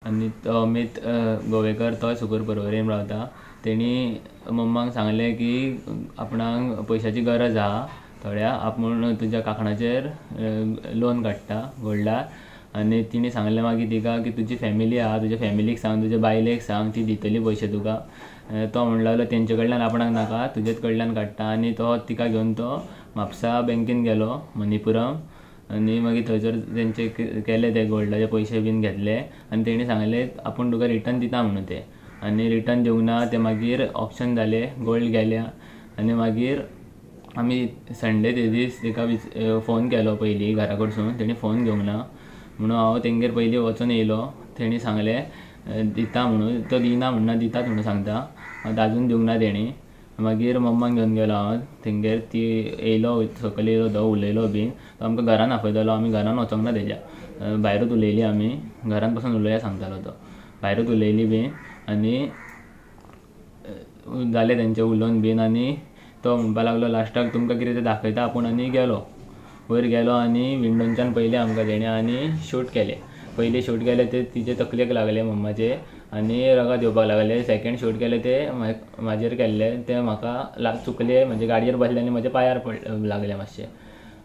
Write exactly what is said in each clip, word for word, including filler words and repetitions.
आनी तो अमीत गोवेकर तो सुकूर पर्वरीन रावता. तेणी मम्माक सांगलें की आपणाक पयशांची गरज आहा थोड्या, आपूण तुज्या कांकणाचेर लोन काडटा गोल्डार. आनी तिणें सांगलें मागीर तिका की तुजी फॅमिली आहा, तुज्या फॅमिलीक सांग, तुज्या बायलेक सांग, ती दितली पयशे तुका. तो म्हणूंक लागलो तेंचे कडल्यान आपणाक नाका, तुजेच कडल्यान काडटा. आनी तो तिका घेवन तो म्हापसा बँकेन गेलो मणिपुरम आनी मागीर थंयसर तेंचे केले ते गोल्डाचे पयशे बीन घेतले. आनी तेणी सांगलें आपूण तुका रिटर्न दिता म्हणून ते, आनी रिटर्न दिवंक ना ते. मागीर ऑप्शन जाले, गोल्ड गेल्या. आनी मागीर आमी संडे ते दीस तेका फोन केलो पयलीं घरा कडसून, तेणी फोन घेवंक ना म्हणून हांव तेंगेर पयलीं वचून येयलो. तेणी सांगलें दिता म्हणून, तो दिना म्हणना, दितात म्हणून सांगता, आजून दिवंक ना तेणी. मागीर मम्माक घेवन गेलो हांव तेंगेर, ती येयलो सकयल येयलो तो उलयलो बीन, तो आमकां घरान आपयतालो. आमी घरान वचोंक ना तेज्या, भायरूच उलयली आमी, घरान पसून उलोवया सांगतालो तो, भायरूच उलयली बीन. आनी जालें तेंचें उलोवन बीन. आनी तो म्हणपाक लागलो लास्टाक तुमकां कितें तें दाखयता आपूण. आनी गेलो वयर गेलो आनी विंडोनच्यान पयलें आमकां तेणें आनी शूट केलें. पयलीं शूट केलें ते तिचे तकलेक लागलें मम्माचे आनी रगत येवपाक लागलें. सेकेंड शूट केलें ते म्हाजेर केल्लें, तें म्हाका चुकलें, म्हणजे गाडयेर बसलें आनी म्हज्या पांयार पड लागलें मातशें.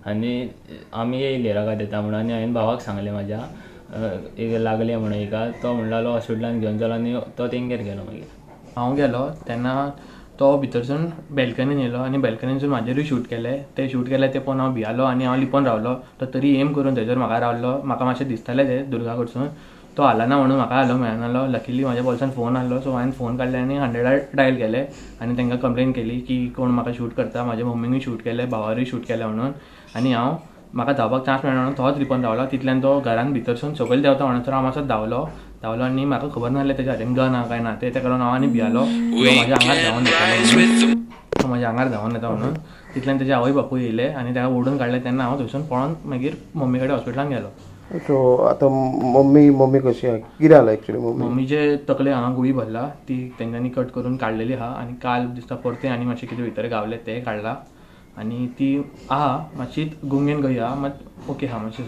आनी आमी येयले रगत येता म्हणून. आनी हांवें भावाक सांगलें म्हाज्या एक लागलें म्हणून हिका, तो म्हणूंक लागलो हॉस्पिटलान घेवन चल आनी तो तेंगेर गेलो. मागीर हांव गेलो तेन्ना तो भितरसून बॅल्कनीन येयलो आनी बॅल्कनीनसून म्हाजेरूय शूट केलें. ते शूट केलें ते पळोवन हांव भियालो आनी हांव लिपोन रावलो. तो तरी एम करून थंयसर म्हाका रावलो. म्हाका मातशें दिसतालें तें दुर्गा कडसून, तो हालना म्हणून म्हाका हालोवंक मेळनासलो. लकीली म्हाज्या बोल्सान फोन आहलो, सो हांवें फोन काडले आनी हंड्रेडार डायल केलें आनी तांकां कंप्लेन केली की कोण म्हाका शूट करता, म्हाज्या मम्मीनूय शूट केलें, भावारूय शूट केलें म्हणून. आनी हांव म्हाका धांवपाक चान्स मेळना म्हणून थोच लिपोन रावलो. तितल्यान तो घरान भितरसून सकयल देंवता म्हणसर हांव मातसो धांवलो धांवलो आनी म्हाका खबर नासलें तेज्या हातीन गन आहा काय ना तें, तेका लागून हांव आनी भियालो. तो म्हाज्या आंगार धांवन येतालो, तो म्हाज्या आंगार धांवन येता म्हणून. तितल्यान तेजे आवय बापूय येयले आनी ताका ओडून काडले. तेन्ना हांव थंयसून पळोवन मागीर मम्मी कडेन हॉस्पिटलान गेलो. सो आतां मम्मी मम्मी कशी आहा, कितें जालां एक्चुअली मम्मी? मम्मीचे तकले हांगा गुळी भरला, ती तेंच्यांनी कट करून काडलेली आहा. आनी काल दिसता परतें आनी मातशें कितें भितर गावलें तें काडलां. आनी ती आहा मातशी गुंगेन गई आहा, मात ओके आहा मातशी.